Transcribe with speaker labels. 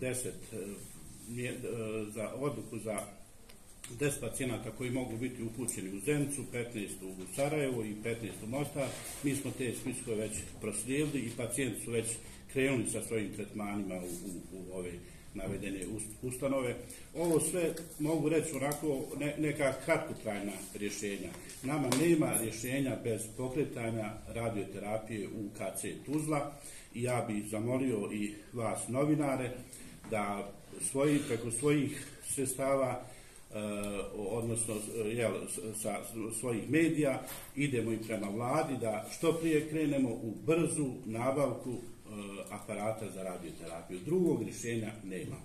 Speaker 1: 10 za odluku za 10 pacijenata koji mogu biti upućeni u Zenicu, 15 u Sarajevo i 15 u Mostar. Mi smo te spiskove već proslijedili i pacijenti su već krenuli sa svojim tretmanima u ove navedene ustanove. Ovo sve mogu reći onako neka kratkotrajna rješenja. Nama nema rješenja bez pokretanja radioterapije u KC Tuzla i ja bih zamolio i vas novinare da preko svojih sredstava odnosno sa svojih medija idemo i prema vladi da što prije krenemo u brzu nabavku aparata za radioterapiju. Drugog rješenja nema.